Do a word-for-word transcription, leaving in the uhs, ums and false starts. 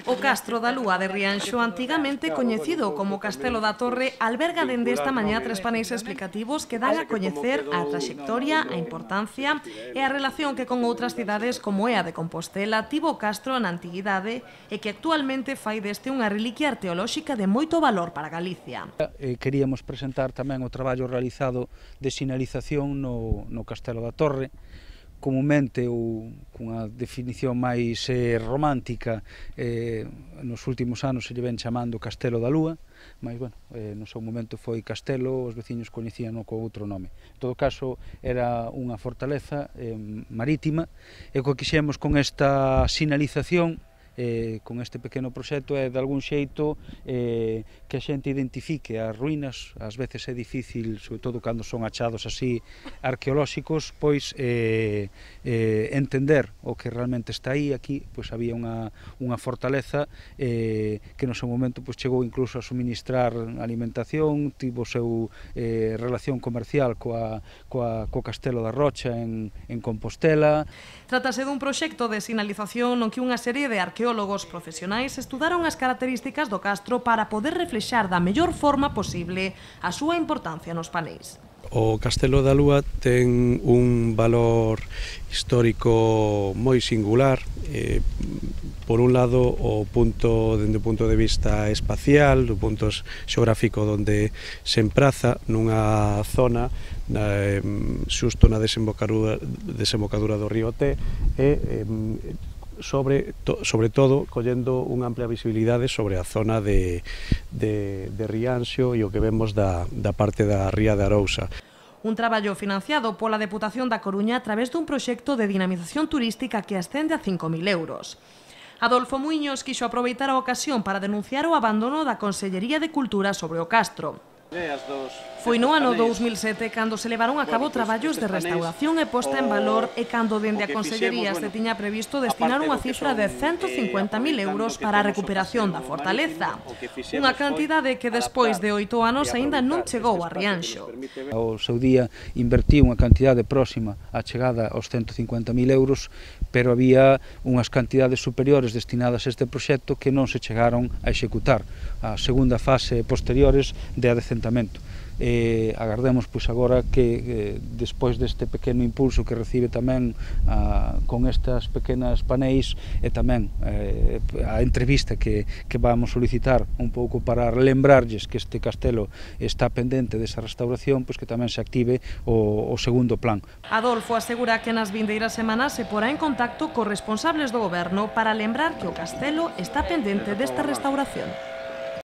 O Castro da Lúa de Rianxo, antigamente coñecido como Castelo da Torre, alberga dende esta mañá tres paneis explicativos que dan a coñecer a traxectoria, a importancia e a relación que con outras cidades como é a de Compostela tivo o Castro na antiguidade e que actualmente fai deste unha reliquia arqueolóxica de moito valor para Galicia. Queríamos presentar tamén o traballo realizado de sinalización no, no Castelo da Torre, comumente ou cunha definición máis eh, romántica, eh, nos últimos anos se lle ven chamando Castelo da Lúa, mas, bueno, eh, no seu momento foi Castelo, os veciños coñecíano con outro nome. En todo caso, era unha fortaleza eh, marítima, e o que quixemos con esta sinalización, Eh, con este pequeno proxecto, é de algún xeito eh, que a xente identifique as ruínas. Ás veces é difícil, sobre todo cando son achados así arqueolóxicos, pois eh, eh, entender o que realmente está aí. Aquí pois había unha, unha fortaleza eh, que no seu momento pois chegou incluso a suministrar alimentación, tivo o seu eh, relación comercial coa, coa, co Castelo da Rocha en, en Compostela. Trátase dun proxecto de sinalización no que unha serie de arqueólogos profesionais estudaron as características do Castro para poder reflexar da mellor forma posible a súa importancia nos paneis. O Castelo da Lúa ten un valor histórico moi singular. Eh, por un lado, o punto, dende o punto de vista espacial, do punto xeográfico onde se empraza nunha zona eh, xusto na desembocadura, desembocadura do río Té, e eh, sobre, to, sobre todo collendo unha amplia visibilidade sobre a zona de, de, de Rianxo e o que vemos da, da parte da ría de Arousa. Un traballo financiado pola Deputación da Coruña a través dun proxecto de dinamización turística que ascende a cinco mil euros. Adolfo Muiños quixo aproveitar a ocasión para denunciar o abandono da Consellería de Cultura sobre o Castro. Foi no ano dous mil sete cando se levaron a cabo traballos de restauración e posta en valor e cando dende a Consellería se tiña previsto destinar unha cifra de ciento cincuenta mil euros para a recuperación da fortaleza, unha cantidade que despois de oito anos aínda non chegou a Rianxo. Ao seu día invertiu unha cantidade próxima á chegada aos ciento cincuenta mil euros, pero había unhas cantidades superiores destinadas a este proxecto que non se chegaron a executar. A segunda fase posteriores de adecentamento. Eh, agardemos pois agora que eh, despois deste pequeno impulso que recibe tamén ah, con estas pequenas paneis e tamén eh, a entrevista que, que vamos solicitar un pouco para lembrarlles que este castelo está pendente desa restauración, pois que tamén se active o, o segundo plan. Adolfo asegura que nas vindeiras semanas se porá en contacto cos responsables do goberno para lembrar que o castelo está pendente desta restauración.